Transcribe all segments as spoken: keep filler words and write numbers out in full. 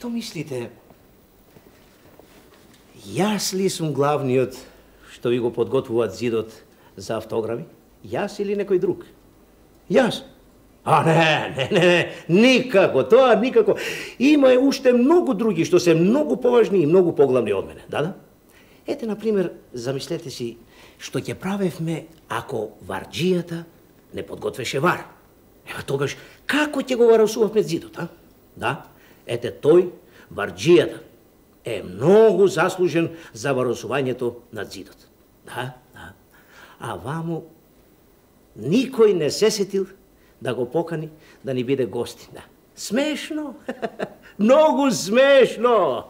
Што мислите? Јас ли сум главниот што ви го подготвуваат зидот за автографи? Јас или некој друг? Јас? А не, не, не, не, никако, тоа никако. Има уште многу други што се многу поважни и многу поглавни од мене, да, да? Ете, например, замислете си што ќе правевме ако варџијата не подготвеше вар. Ева тогаш, како ќе го варосувавме зидот, а? Да, ете тој, варџијата, е многу заслужен за варосувањето на зидот. Да, да. А ваму никој не се сетил да го покани да ни биде гости. Да. Смешно? Многу смешно!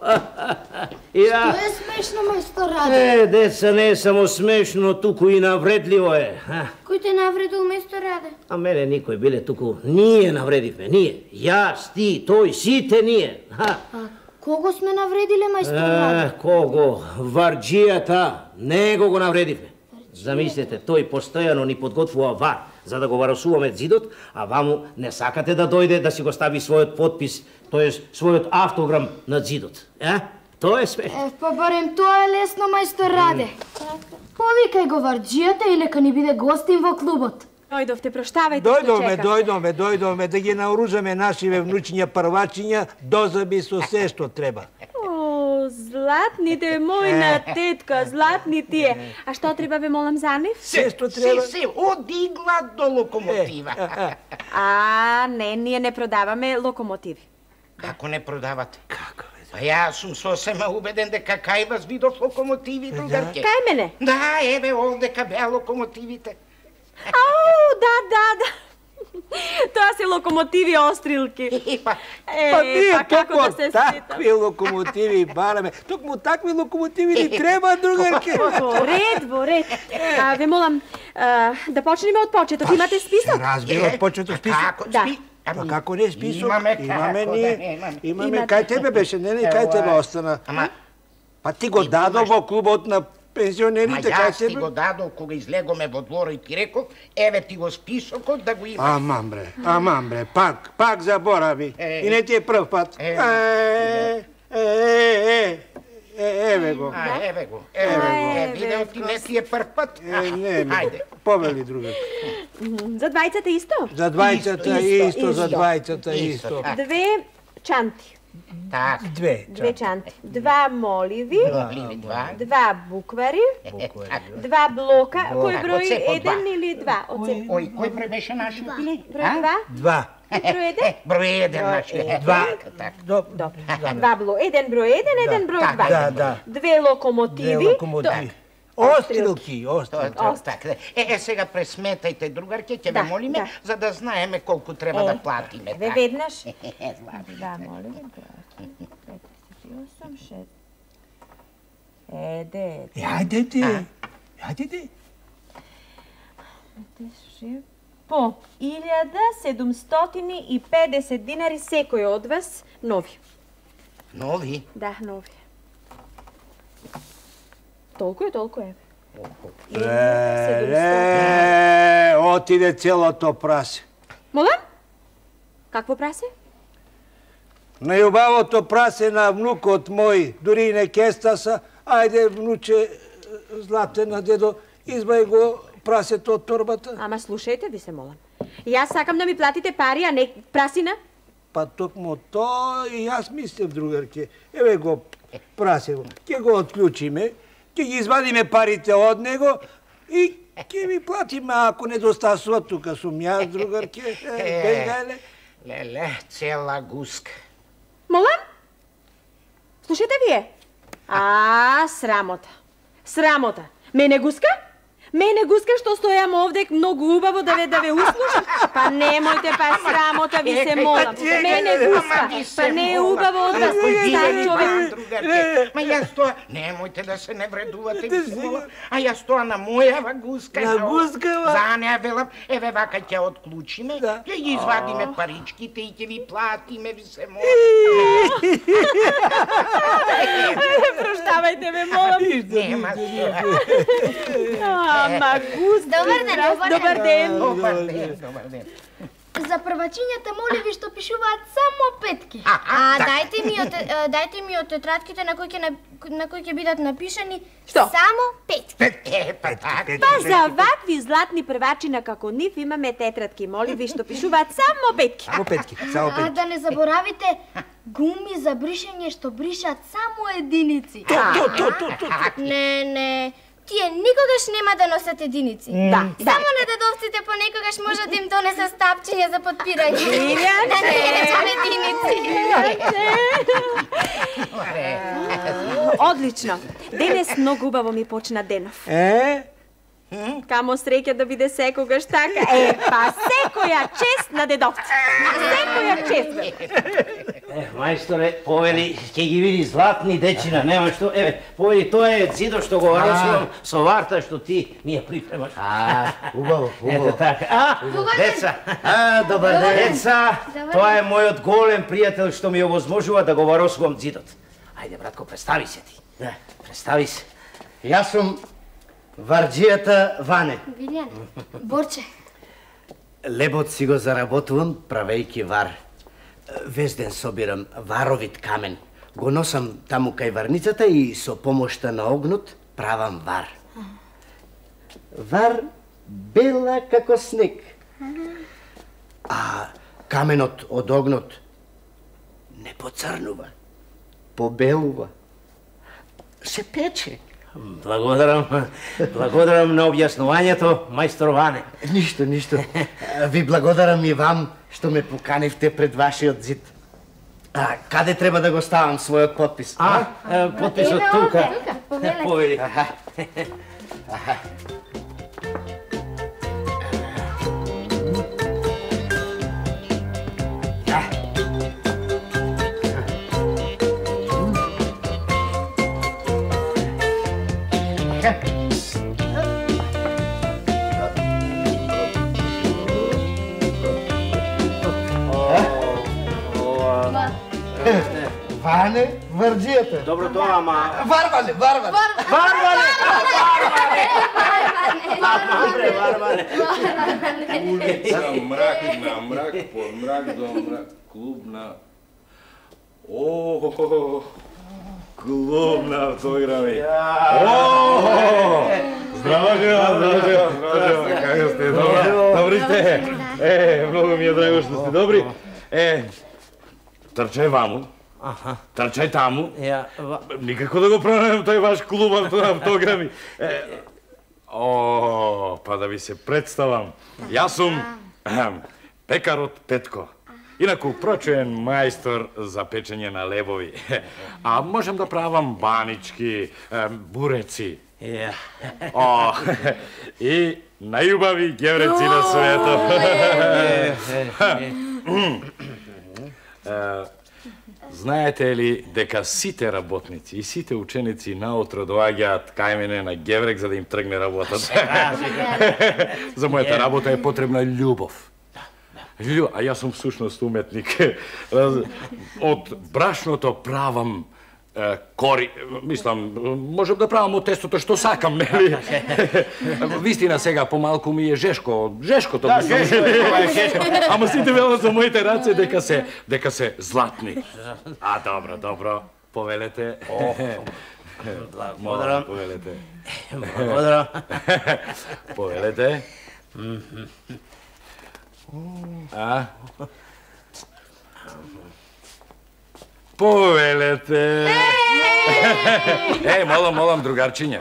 Што е смешно, мајстор Раде? Е, деца, не е само смешно, туку и навредливо е. Кој те навредил, мајстор Раде? А мене никој, биле туку. Ние навредивме, ние. Јас, ти, тој, сите ние. А кого сме навредиле, мајстор Раде? Е, кого? Варџијата. Него го навредивме. Замислете, тој постојано ни подготвува вар за да го варосуваме зидот, а ваму не сакате да дојде да си го стави својот подпис, тоест својот автограм на зидот. Е? Тоа е смешно. Е, па барем тоа е лесно, мајстор Раде. Повикај го варџијата и нека ни биде гостин во клубот. Дојдовте, проштавајте што Дојдовме, чекавте. дојдовме, дојдовме да ги наоружаме нашиве внучиња првачиња дозаби со се што треба. О, златните, мојна тетка, златни тие. А што треба ве молам за нив? Се што треба. Се, се, одигла до локомотива. А, не, ние не продаваме локомотиви. Како не продавате? Како бе? Па јас сум сосема убеден дека кај вас видов локомотиви, другарке. Кај мене? Да, еве овдека беа локомотивите. Ау, да, да, да. Тоа се локомотиви острилки. Па, Е, Па ние па како токму да се такви сетам? локомотиви бараме. Токму такви локомотиви ни треба, другарке. Во ред, во ред. А, ве молам, а, да почнеме од почеток. Имате список? Разбира, од почеток список. како Да. спи? Па како не список? Имаме Имаме како, ние. да, имаме. Имаме. Имате. Кај тебе беше, не, не, кај тебе остана. Ама, Па ти го дадо во клубот на ма пензионерите, кај јас ти тебе? го дадов кога излегоме во дворо и ти реков, еве ти го списокот да го имаш. Аман бре, аман бре, пак, пак заборави. Е. И не ти е прв пат. Е. Е, е, е, е, еве го. А, еве го, еве го. Е, Еве видео ти не ти е прв пат. Е, не, не, Ајде. повели друга. За двајцата исто? За двајцата Исто, исто, за исто. двајцата Исто, исто. така. Две чанти. Так, Две. Две чанти. Два моливи. моливи два. Два буквари. Така. Два блока. Кој Од број? се по Еден два. или два? Од се. Ој, кој број беше нашиот или? Број два? Два. Број еден? Е, број еден нашиот. Два. Така. До- Добро. Два бло. Еден број еден, еден број Да, два. Да, да. Две Две локомотиви. локомотиви. Острилки, Тоа, острилки. тоа, така. Е, е, сега пресметајте, другарке, ќе Да, ве молиме, да. за да знаеме колку треба Е, да платиме. Ве така. веднаш. Е, злати. Два моливи. тридесет и осум, шест. Еде, Е, ајде ти. Ајде ти. по илјада седумстотини и педесет динари секој од вас нови. Нови? Да, нови. Толку е, толку е. Е, отиде целото прасе. Молам? Какво прасе? Најубавото прасе на внукот мој, дури и не кестаса, ајде, внуче, златена дедо, избај го прасето од торбата. Ама слушајте ви се молам. Јас сакам да ми платите пари, а не прасина. Па токму тоа и јас мислев, другарке. Еве го прасево. Ќе го отклучиме, ќе ги извадиме парите од него и ќе ви платиме ако недостасува. Тука сум јас, другарке. Е, бегале. Леле, цела гуска. Молам? Слушајте вие. А, срамота. Срамота. Мене гуска? Мене гуска што стојам овде многу убаво да ве да ве услушам. Па немојте, па срамота ви се молам. Мене гуска. Па не е убаво од вас, стар човек. Другарке, ма јас тоа, немојте да се не вредувате, ви се молам. А јас тоа на мојава гуска. На гускава? За неа велам, еве вака ќе отклучиме, Да. ќе ги извадиме паричките и ќе ви платиме, ви се молам. Проштавајте ме, молам. Нема што. Ама гуска. Добар ден, добар Добар ден. Добар ден, добар ден. за првачињата моли ви што пишуваат само петки. А дајте ми од дајте ми од тетрадките на кои ќе на кои ќе бидат напишани само петки. Е, па така. Па за вакви златни првачина како нив имаме тетрадки, моли ви што пишуваат само петки. Само петки, само А петки. да не заборавите гуми за бришење што бришат само единици. То, то, то, то, то. Не, не. Тие никогаш нема да носат единици. Да, Само на дедовците понекогаш може да им донесе стапчиња за подпирање. Илјан, Да не речам единици. Одлично. Денес многу убаво ми почна денов. Е? Камо среќа да биде секогаш така. Е, па секоја чест на дедовци. Секоја чест. Е, мајсторе, повели, ќе ги види златни дечина, нема што. Еве, повели, тоа е зидо што го росувам со варта што ти ми ја припремаш. А, убаво, Ето убаво. така. А, деца, А, добар ден. деца, тоа е мојот голем пријател што ми овозможува да го варосувам зидот. Ајде, братко, представи се ти. Да. Представи се. Јас сум варџијата Ване. Вилјан, Борче. Лебот си го заработувам правејќи вар. Вез ден собирам варовит камен. Го носам таму кај варницата и со помошта на огнот правам вар. Вар бела како снег. А каменот од огнот не поцрнува, побелува, се пече. Благодарам, благодарам на објаснувањето, мајстор Ване. Ништо, ништо. Ви благодарам и вам што ме поканивте пред вашиот зид. А каде треба да го ставам својот подпис? А, е, подписот Еве тука. овде, тука, повелете. Повели. Аха. Ване, варџијата. Добро тоа, ама... Варване, варване. Варване! Варване! Варване! За мрак на мрак, под мрак до мрак, клубна... О, клубна автограми. Здраво, жена, здраво, жена, здраво, жена, како сте, добро? Добри сте? Е, многу ми е драго што сте добри. Е, трчај ваму, трчај таму. Ја, ва- Никако да го пронајдам тој ваш клуб авто- автограми. Е, О, па да ви се представам. Јас сум ахам, пекарот Петко. Инаку прочуен мајстор за печење на лебови. А можам да правам банички, е, буреци. ја. О, и најубави гевреци на светот. Е, Знаете ли дека сите работници и сите ученици наутро доаѓаат кај мене на геврек за да им тргне работата? За мојата работа е потребна љубов. Љу... А јас сум всушност уметник. Од брашното правам е, кори, мислам, можам да правам од тестото што сакам, нели? Вистина сега помалку ми е жешко, жешкото Да, мислам. жешко е, тоа е жешко. Ама сите велат за моите раце дека се дека се златни. А добро, добро, повелете. Благодарам. Повелете. Благодарам. Повелете. А? Повелете. Е, молам, молам, другарчиња.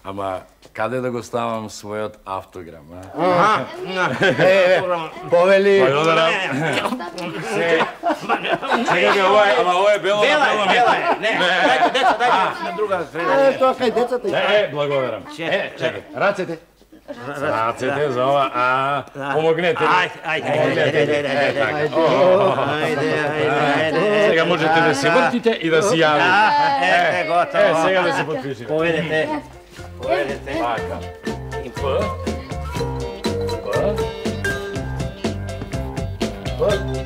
Ама каде да го ставам својот автограм, а? Е, повели. Благодарам. Се. Сега ми ова е, ама ова е бело на Бела бело. е, бела е. Не, дајте, деца, дајте на друга Е, среда. тоа кај децата. Е, благодарам. Е, чекај, рацете. Рацете за ова, а, помогнете ми. Ајде, ајде, ајде, ајде, ајде, Е, така. ајде, О, ајде, ајде, ајде. Сега можете да се вртите и да се јавите. Е, готово. Е, сега да се подпишете. Поведете. Поведете. Така. П. П. П.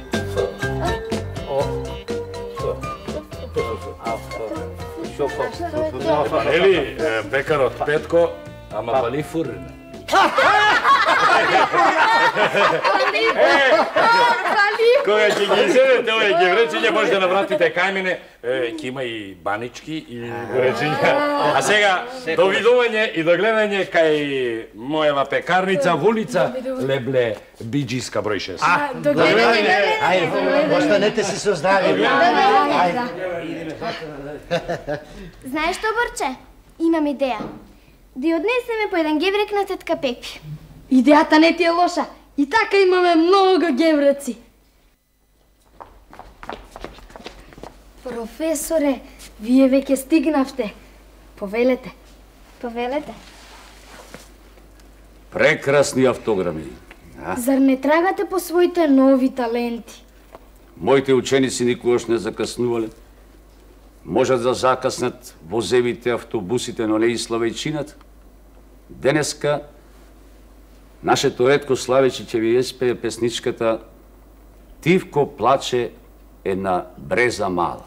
Шоко. Ели, е, пекарот Петко, ама бали фурна. Кога ќе ги изедете овие гевречиња, може да навратите кај мене, ќе има и банички и гевречиња. А сега, довидување и догледање кај мојава пекарница во улица Лебле Биџиска број шест. Догледање. Ајде, останете си со здраве. Знаеш што, Борче? Имам идеја. Да ја однесеме по еден геврек на тетка Пепи. Идејата не ти е лоша. И така имаме многу гевреци. Професоре, вие веќе стигнавте. Повелете. Повелете. Прекрасни автограми. Зар не трагате по своите нови таленти? Моите ученици никогаш не закаснувале. Можат да закаснат возевите, автобусите, но не и славејчината. Денеска нашето ретко славејче ќе ви еспее песничката Тивко плаче една бреза мала.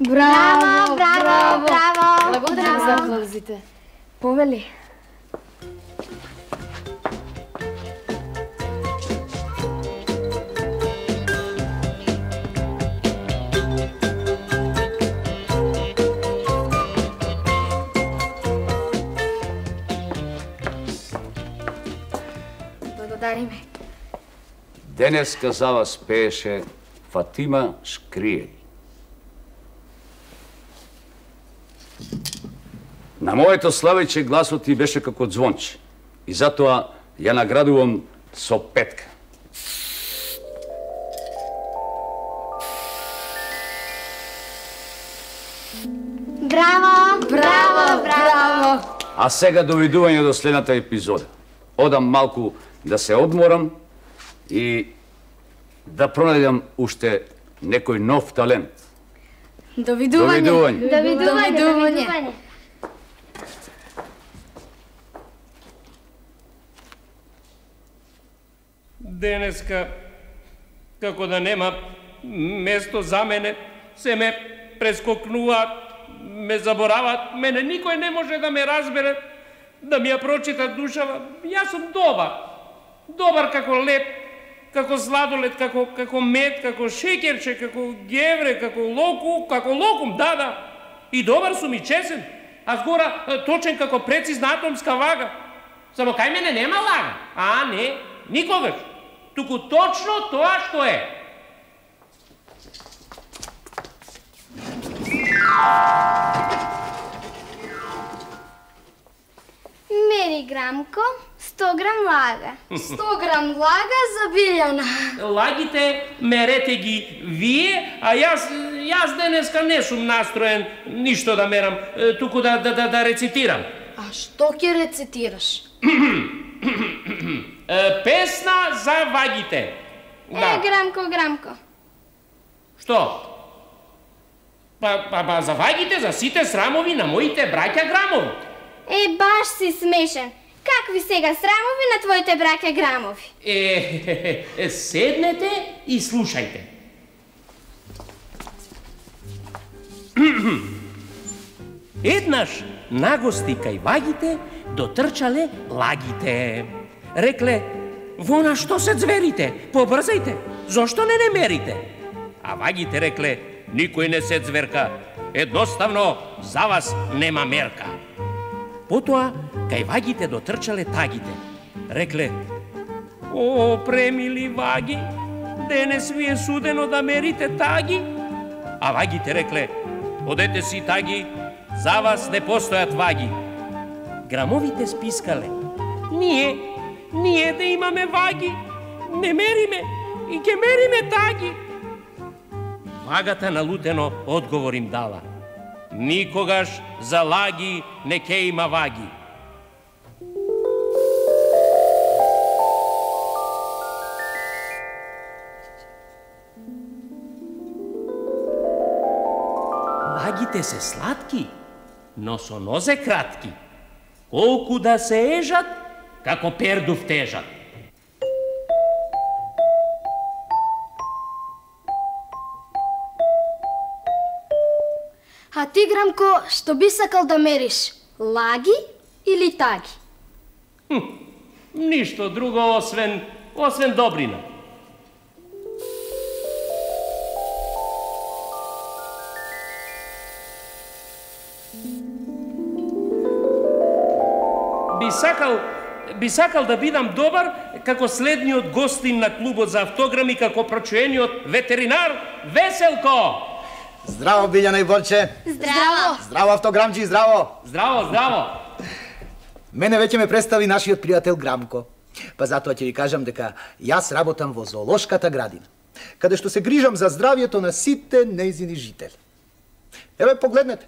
Браво, браво, браво. Благодарам за аплаузите. Повели. Благодариме. Денеска за вас пееше Фатима Шкриели. На моето славејче гласот ти беше како звонче и затоа ја наградувам со петка. Браво! Браво, браво! А сега довидување до следната епизода. Одам малку да се одморам и да пронајдам уште некој нов талент. Довидување. Довидување. Довидување. Довидување. Денеска, како да нема место за мене, се ме прескокнуваат, ме забораваат, мене никој не може да ме разбере, да ми ја прочита душава. Јас сум добар. Добар како лед, како сладолед, како, како мед, како шекерче, како гевре, како локу, како локум, да, да. И добар сум и чесен, а згора точен како прецизна атомска вага. Само кај мене нема лага. А, не, никогаш. Туку точно тоа што е. Мери грамко, сто грам лага. сто грам лага за Билјана. Лагите мерете ги вие, а јас, јас денеска не сум настроен ништо да мерам, туку да, да, да, да рецитирам. А што ќе рецитираш? Песна за вагите. Е, грамко, грамко. Што? Па, па, па за вагите, за сите срамови на моите браќа грамови. Е, баш си смешен. Какви сега срамови на твоите браќа грамови? Е, е, седнете и слушајте. Еднаш нагости кај вагите дотрчале лагите. Рекле, во на што се зверите? Побрзајте, зошто не не мерите? А вагите рекле, никој не се зверка, едноставно за вас нема мерка. Потоа, кај вагите дотрчале тагите. Рекле, о, премили ваги, денес ви е судено да мерите таги. А вагите рекле, одете си таги, за вас не постојат ваги. Грамовите спискале, ние, ние да имаме ваги, не мериме и ќе мериме таги. Вагата налутено одговор им дала. Никогаш за лаги не ке има ваги. Вагите се сладки, но со нозе кратки. Колку да се ежат, како пердув тежат. А ти, Грамко, што би сакал да мериш? Лаги или таги? Хм, ништо друго освен, освен добрина. Би сакал, би сакал да бидам добар како следниот гостин на клубот за автограми, како прочуениот ветеринар Веселко. Здраво, Билјана и Борче. Здраво. Здраво, автограмџи, здраво. Здраво, здраво. Мене веќе ме представи нашиот пријател Грамко. Па затоа ќе ви кажам дека јас работам во зоолошката градина, каде што се грижам за здравјето на сите нејзини жители. Еве, погледнете.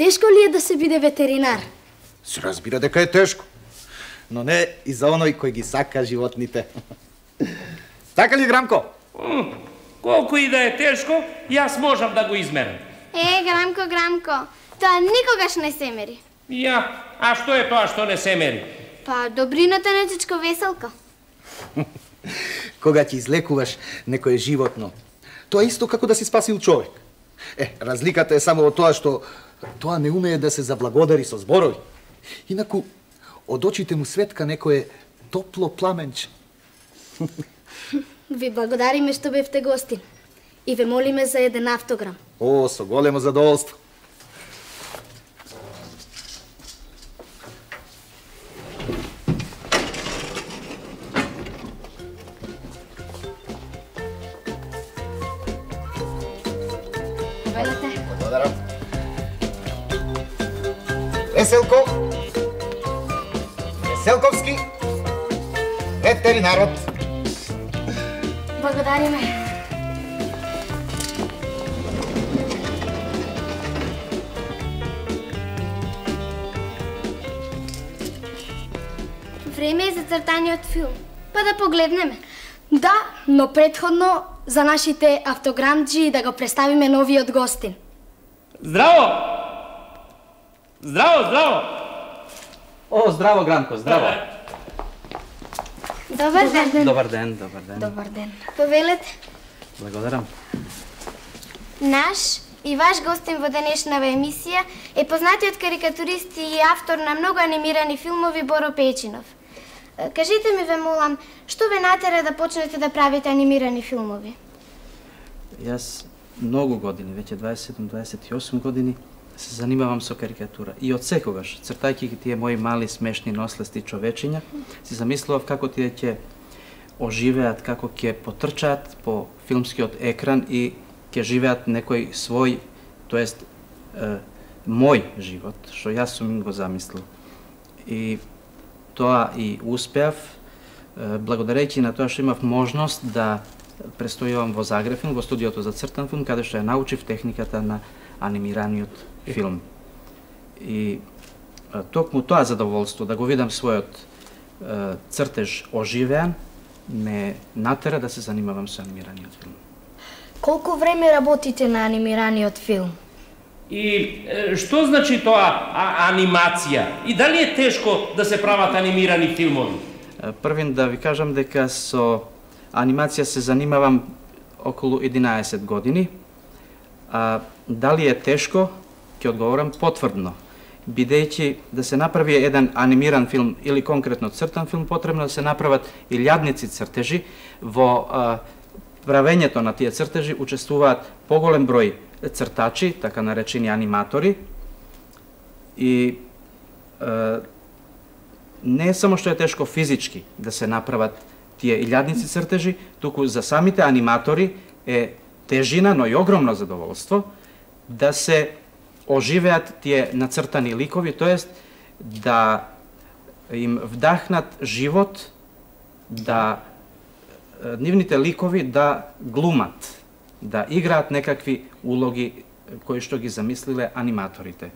Тешко ли е да се биде ветеринар? Се разбира дека е тешко, но не и за оној кој ги сака животните. Така ли, Грамко? Колку и да е тешко, јас можам да го измерам. Е, Грамко, Грамко, тоа никогаш не се мери. Ја, а што е тоа што не се мери? Па, добрината на чичко веселка. Кога ќе излекуваш некое животно, тоа е исто како да си спасил човек. Е, разликата е само во тоа што тоа не умее да се заблагодари со зборови. Инаку, од очите му светка некое топло пламенче. Ви благодариме што бевте гостин и ве молиме за еден автограм. О, со големо задоволство. Благодарам. Веселко, Веселковски, ветеринарот. Благодариме. Време е за цртаниот филм. Па да погледнеме. Да, но предходно за нашите автограмджи да го представиме новиот гостин. Здраво! Здраво, здраво! О, здраво, Гранко, здраво. Добар ден. Добар ден, добар ден. Добар ден. Повелете. Благодарам. Наш и ваш гостин во денешнава емисија е познатиот карикатурист и автор на многу анимирани филмови Боро Печинов. Кажите ми, ве молам, што ве натера да почнете да правите анимирани филмови? Јас многу години, веќе дваесет и седум дваесет и осум години, се занимавам со карикатура. И од секогаш, цртајќи ги тие мои мали смешни нослести човечиња, си замислував како тие ќе оживеат, како ќе потрчаат по филмскиот екран и ќе живеат некој свој, тоест е, мој живот, што јас сум им го замислил. И тоа и успеав, благодарејќи на тоа што имав можност да престојувам во Загреб, во студиото за цртан филм, каде што ја научив техниката на анимираниот филм. И токму тоа задоволство да го видам својот е, цртеж оживеан, ме натера да се занимавам со анимираниот филм. Колку време работите на анимираниот филм? И е, што значи тоа а, анимација? И дали е тешко да се прават анимирани филмови? Првин да ви кажам дека со анимација се занимавам околу единаесет години. А дали е тешко? Ќе одговорам потврдно. Бидејќи да се направи еден анимиран филм или конкретно цртан филм, потребно да се направат илјадници цртежи. Во а, правењето на тие цртежи учествуваат поголем број цртачи, така наречени аниматори. И е, не само што е тешко физички да се направат тие илјадници цртежи, туку за самите аниматори е тежина, но и огромно задоволство да се оживеат тие нацртани ликови, тоест да им вдахнат живот, да нивните ликови да глумат, да играат некакви улоги кои што ги замислиле аниматорите.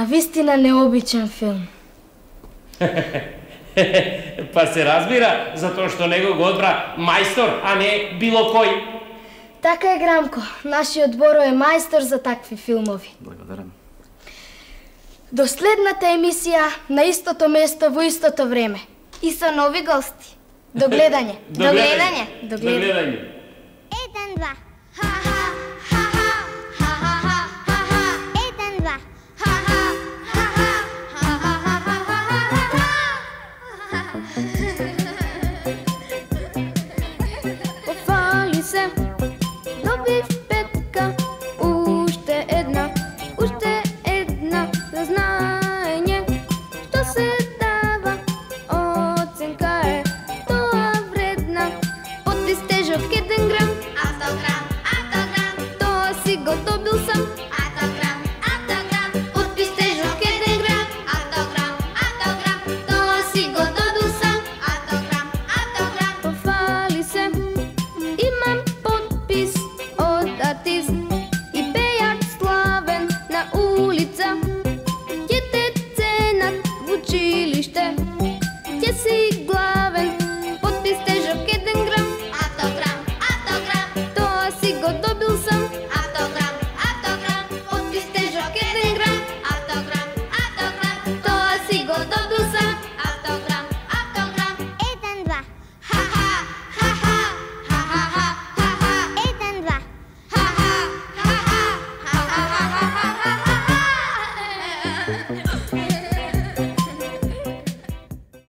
На вистина необичен филм. Па се разбира, затоа што него го одбра мајстор, а не било кој. Така е, Грамко. Нашиот Боро е мајстор за такви филмови. Благодарам. До следната емисија на истото место во истото време. И со нови гости. До гледање. До гледање. До гледање. Еден, два. Ха-ха, ха-ха, ха-ха, ха-ха. Еден, два. Ха-ха, ха-ха, ха-ха, ха-ха. Пофали се, добив